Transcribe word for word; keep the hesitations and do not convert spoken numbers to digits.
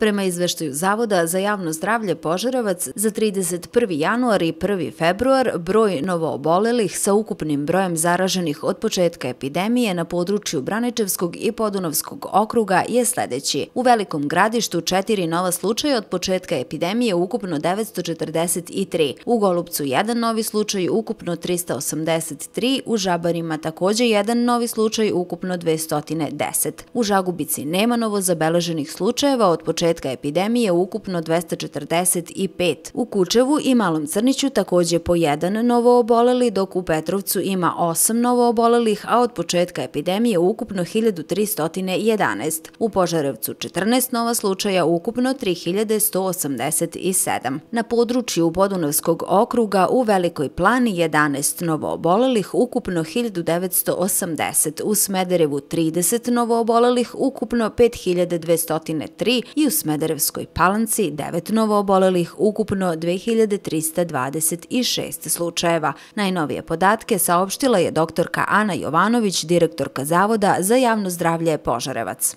Prema izveštaju Zavoda za javno zdravlje Požarevac, za trideset prvi januar i prvi februar broj novoobolelih sa ukupnim brojem zaraženih od početka epidemije na području Braničevskog i Podunavskog okruga je sledeći. U Velikom Gradištu četiri nova slučaja od početka epidemije, ukupno devetsto četrdeset tri. U Golupcu jedan novi slučaj, ukupno trista osamdeset tri. U Žabarima takođe jedan novi slučaj, ukupno dvesta deset. U Žagubici nema novozabeleženih slučajeva od početka epidemije, ukupno dvesta četrdeset pet. U Kučevu i Malom Crniću takođe po jedan novooboleli, dok u Petrovcu ima osam novoobolelih, a od početka epidemije ukupno hiljadu trista jedanaest. U Požarevcu četrnaest nova slučaja, ukupno tri hiljade sto osamdeset sedam. Na području Podunavskog okruga u Velikoj Plani jedanaest novoobolelih, ukupno hiljadu devetsto osamdeset. U Smederevu trideset novoobolelih, ukupno pet hiljada dvesta tri i u Smederevskoj Palanci devet novoobolelih, ukupno dve hiljade trista dvadeset šest slučajeva. Najnovije podatke saopštila je doktorka Ana Jovanović, direktorka Zavoda za javno zdravlje Požarevac.